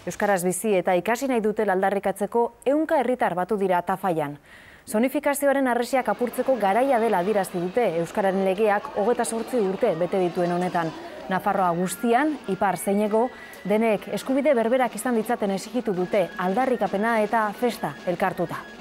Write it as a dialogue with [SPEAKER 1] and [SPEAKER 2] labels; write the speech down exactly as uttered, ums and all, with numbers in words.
[SPEAKER 1] Euskaraz bizi eta ikasi nahi dutela aldarrikatzeko ehunka herritar batu dira Tafallan. Zonifikazioaren harresiak apurtzeko garaia dela adierazi dute Euskararen legeak hogeita zortzi urte bete dituen honetan. Nafarroa guztian, ipar zein hego, denek eskubide berberak izan ditzaten exigitu dute aldarrikapena eta festa elkartuta.